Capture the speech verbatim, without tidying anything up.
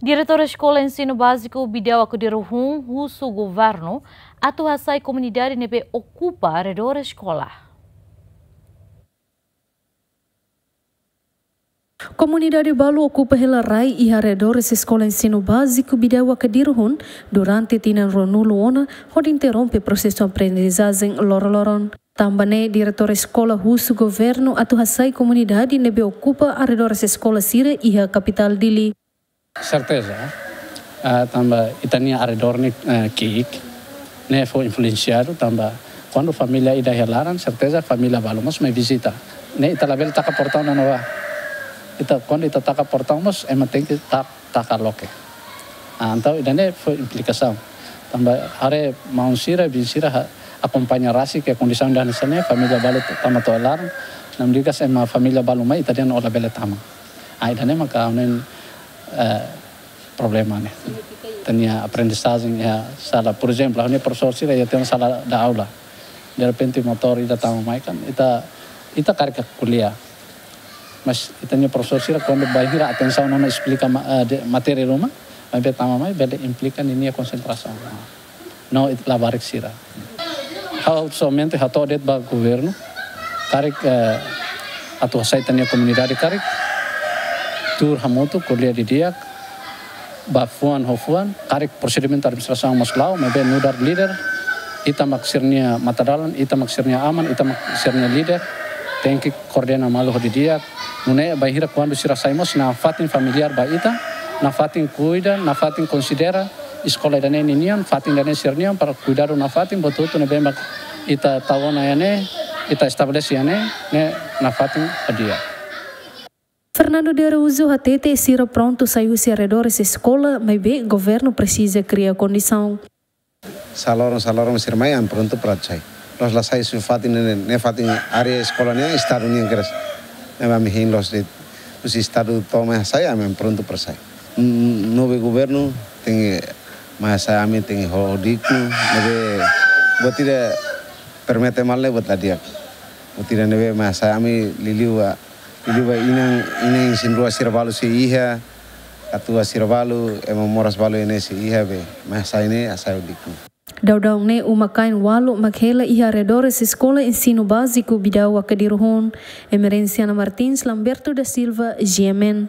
Diretór Eskola Ensinu Báziku Bidau Akdiru Hun husu governu atu hasai komunidade ne'ebé okupa arredór eskola. Komunidade balu okupa hela rai iha arredores Eskola Ensinu Báziku Bidau Akdiru Hun durante tinan ruanulu ona, hodi interrompe prosesu aprendizajen loroloron. Tanba ne'e, diretór eskola husu governu atu hasai komunidade ne'ebé okupa arredores eskola sira iha kapitál Dili. Serteza, ah, tanba ita-nia arredór ne'e, eh, ki'ik, ne'e fó influensiadu, tanba kuandu família ida iha laran, serteza família balu mós mai vizita. Ne'e ita labele taka portaun ona ba. Ita, kuandu ita taka portaun mós, ema tenke ta-, taka loke. Ah, entaun ida-ne'e fó implikasaun. Tanba haree maun sira, biin sira ha-, akompaña rasik kondisaun ida hanesan ne'e, família balu t-, tama to'o laran, namdikas ema família balu mai, ita dehan labele tama. Ah, ida-ne'e maka ha'u hanoin, eh, problema ne'e. Ita-nia aprendizajen iha sala, por ezemplu, ha'u-nia profesór sira iha tiha ona sala de aula. De repente motór ida tama mai kan, ita, ita karik ko'alia. Mas ita-nia profesór sira kuandu bainhira atensaun ona esplika ma-, eh, de'it matéria ruma, maibé tama mai bele implika ninia konsentrasaun. No ita labarik sira. Ha'u somente hato'o de'it ba governu, karik, eh, atu hasai ita-nia komunidade karik, tuur hamutuk, ko'alia didi'ak, ba fuan ho fuan, karik prosedimentu administrasaun mós la'o, maibé nu'udar líder, ita mak sira-nia matadalan, ita mak sira-nia aman, ita mak sira-nia líder, tenke koordena malu ho didi'ak, nune'e bainhira kuandu sira sai mós nafatin familiár ba ita, nafatin kuida, nafatin konsidera eskola ida-ne'e ninian, fatin ida-ne'e sira-nian, para kuidadu nafatin, buat hotu ne'ebé mak ita tau ona iha ne'e, ita estabelese iha ne'e, ne'e nafatin ho di'ak. Fernando de Araújo hatete sira prontu sai husi arredores eskola, maibé governu presiza kria kondisaun. Saloron, saloron sira mai, ami prontu para sai. Loos la sai husi fatin ne'e, ne'e fatin área eskola ne'e Estadu nian kedas. Ne'e ami hein loos de'it, husi Estadu to'o mai hasai, ami, ami prontu para sai. N-, n-, ne'ebé governu tenke mai hasai ami, tenke ho dignu, ne'ebé buat ida permite malu buat la di'ak. Buat ida ne'ebé mai hasai ami liuliu ba, liuliu ba inan, inan isin-rua sira balu sei iha, katuas sira balu, ema moras balu iha ne'e sei iha be, mai hasai ne'e, hasai ho dignu. Daudaun ne'e uma-kain ualu mak hela iha arredores Eskola Ensinu Báziku Bidau Akdiru Hun. Emerenciana Martins, Lamberto da Silva, G M N.